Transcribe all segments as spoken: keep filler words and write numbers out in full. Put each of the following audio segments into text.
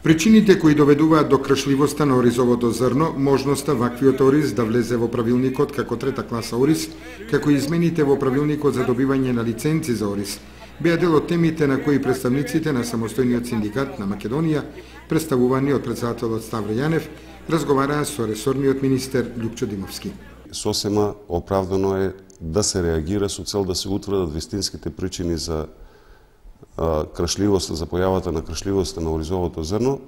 Причините кои доведуваат до кршливоста на оризовото зрно, можноста ваквиот ориз да влезе во правилникот како трета класа ориз, како и измените во правилникот за добивање на лиценци за ориз, беа дел од темите на кои представниците на самостојниот синдикат на Македонија, представувани од претседателот Ставро Јанев, разговараа со ресорниот министер Љупчо Димовски. Сосема оправдано е да се реагира со цел да се утврдат вистинските причини за кршливоста, за појавата на кршливоста на оризовото зрно,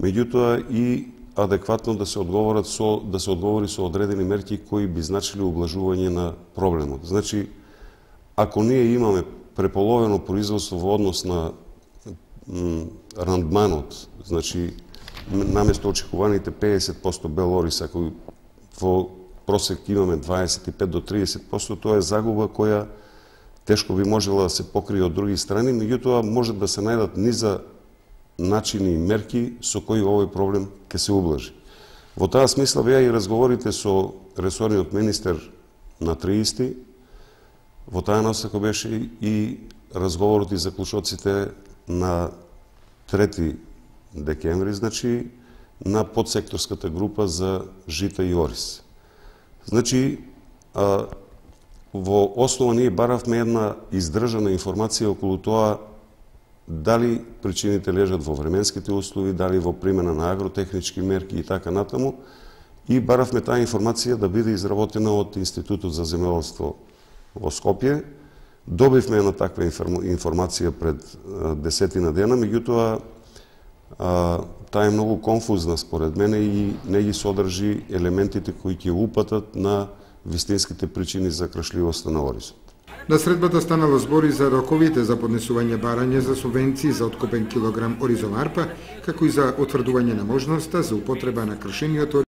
меѓутоа и адекватно да се одговорат со да се одговори со одредени мерки кои би значиле ублажување на проблемот. Значи, ако ние имаме преполовено производство во однос на рандманот, значи наместо очекуваните педесет проценти бел ориз, ако во просек имаме дваесет и пет до триесет проценти, тоа е загуба која тешко би можела да се покрие од други страни, меѓутоа може да се најдат низа начини и мерки со кои овој проблем ќе се ублажи. Во таа смисла беа и разговорите со ресорниот министер на триесети, во таа насока беше и разговорот и заклучоците на трети декември, значи на подсекторската група за жита и ориз. Значи, а, во основа ние баравме една издржана информација околу тоа дали причините лежат во временските услови, дали во примена на агротехнички мерки и така натаму, и баравме таа информација да биде изработена од Институтот за земјоделство во Скопје. Добивме една таква информација пред десетина дена, меѓутоа таа е многу конфузна според мене и не ги содржи елементите кои ќе упатат на вистинските причини за кршливоста на оризот. На средбата станало збори за роковите за поднесување барање за субвенции за откупен килограм оризова арпа, како и за утврдување на можноста за употреба на кршениот